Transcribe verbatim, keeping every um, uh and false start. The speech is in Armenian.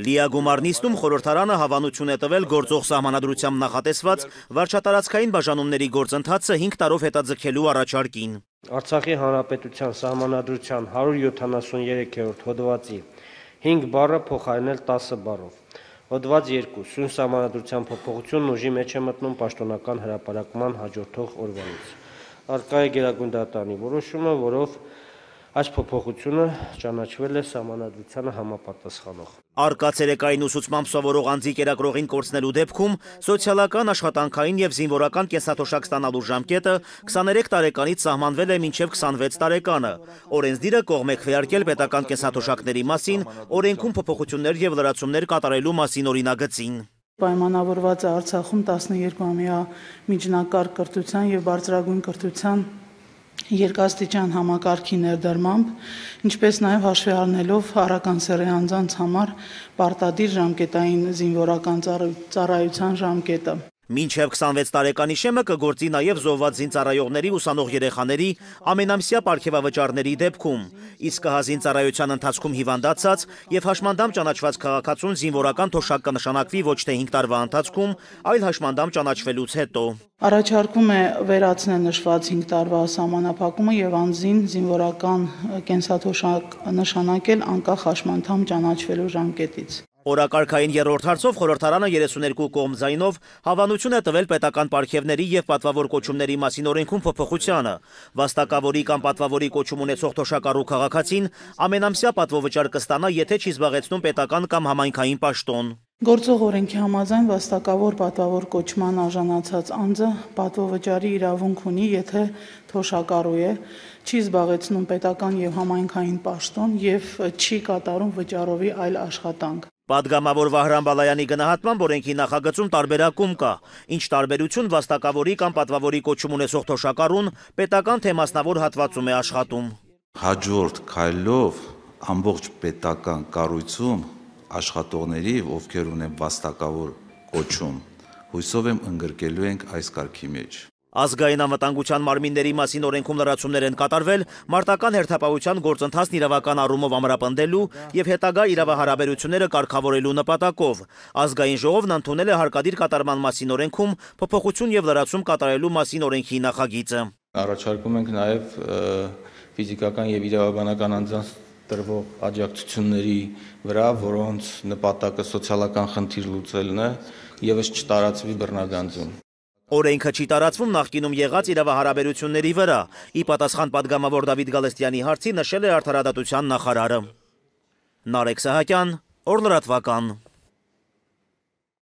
Լիագումար նիստում խորհրդարանը հավանություն է տվել գործող սահմանադրությամբ նախատեսված վարչատարածքային բաժանումների գործընթացը հինգ տարով հետաձգելու առաջարկին։ Արցախի հանրապետության սահմանադրության հարյուր յոթանասուներորդ հոդվածի հինգ բառը փոխարինել տասը բառով։ Հոդված երկու. Սույն սահմանադրության փոփոխությունն ուժի մեջ է մտնում պաշտոնական հրապարակման հաջորդող օրվանից։ Առկա է Գերագույն դատարանի որոշումը, որով այս փոփոխությունը ճանաչվել է սահմանադրությանը համապատասխանող։ Առկա ցերեկային ուսուցմամբ սովորող անձի կերակրողին կորցնելու դեպքում սոցիալական, աշխատանքային եւ զինվորական կենսաթոշակ ստանալու ժամկետը քսաներեք տարեկանից սահմանվել է մինչեւ քսանվեց տարեկանը։ Օրենսդիրը կողմ է քվեարկել պետական կենսաթոշակների մասին օրենքում փոփոխություններ եւ լրացումներ կատարելու մասին օրինագծին։ Պայմանավորված է Արցախում տասներկուամյա միջնակարգ կրթության եւ բարձրագույն կրթության երկաստիճան համակարգի ներդրմամբ, ինչպես նաև հաշվի առնելով առաքանսեռի անձանց համար պարտադիր ժամկետային զինվորական ծառայության ժամկետը։ Մինչև քսանվեց տարեկանի շեմը կգործի նաև զոհված զինծառայողների ուսանող երեխաների ամենամսյա պարգևավճարների դեպքում, իսկ զինծառայության ընթացքում հիվանդացած եւ հաշմանդամ ճանաչված քաղաքացուն զինվորական թոշակ կնշանակվի ոչ թե հինգ տարվա ընթացքում, այլ հաշմանդամ ճանաչվելուց հետո։ Առաջարկում է վերացնել նշված հինգ տարվա սահմանափակումը եւ անձին զինվորական կենսաթոշակ նշանակել անկախ հաշմանդամ ճանաչվելու ժամկետից։ Օրակարգային երրորդ հարցով խորհրդարանը երեսուներկու կողմ ձայնով հավանություն է տվել պետական պարգևների եւ պատվավոր կոչումների մասին օրենքում փոփոխությանը։ Վաստակավորի կամ պատվավորի կոչում ունեցող թոշակառու քաղաքացին ամենամսյա պատվովճար կստանա, եթե չի զբաղեցնում պետական կամ համայնքային պաշտոն։ Գործող օրենքի համաձայն վաստակավոր պատվավոր կոչման արժանացած անձը պատվովճարի իրավունք ունի, եթե թոշակառու է, չի զբաղեցնում պետական եւ համայնքային պաշտոն եւ չի կատարում վճարովի այլ աշխատանք։ Պատգամավոր Վահրամ Բալայանի գնահատմամբ օրենքի նախագծում տարբերակում կա, ինչ տարբերություն վաստակավորի կամ պատվավորի կոչում ունեցող թոշակառուն պետական թե մասնավոր հատվածում է աշխատում։ Հաջորդ քայլով ամբողջ պետական կառույցում աշխատողների, ովքեր ունեն վաստակավոր կոչում, հույսով եմ ընդգրկելու ենք այս կարգի մեջ։ Ազգային անվտանգության մարմինների մասին օրենքում լրացումներ են կատարվել մարտական հերթապահության գործընթացն իրավական առումով ամրապնդելու եւ հետագա իրավահարաբերությունները կարգավորելու նպատակով։ Ազգային ժողովն ընդունել է հարկադիր կատարման մասին օրենքում փոփոխություն եւ լրացում կատարելու մասին օրենքի նախագիծը։ Առաջարկում ենք նաեւ ֆիզիկական եւ իրավաբանական անձանց տրվող աջակցությունների վրա, որոնց նպատակը սոցիալական խնդիր լուծելն է, եւս չտարածվի բռնագանձում։ Օրենքը չի տարածվում նախկինում եղած իրավահարաբերությունների վրա, ի պատասխան պատգամավոր Դավիթ Գալստյանի հարցի նշել է արդարադատության նախարարը։ Նարեկ Սահակյան, Օր լրատվական։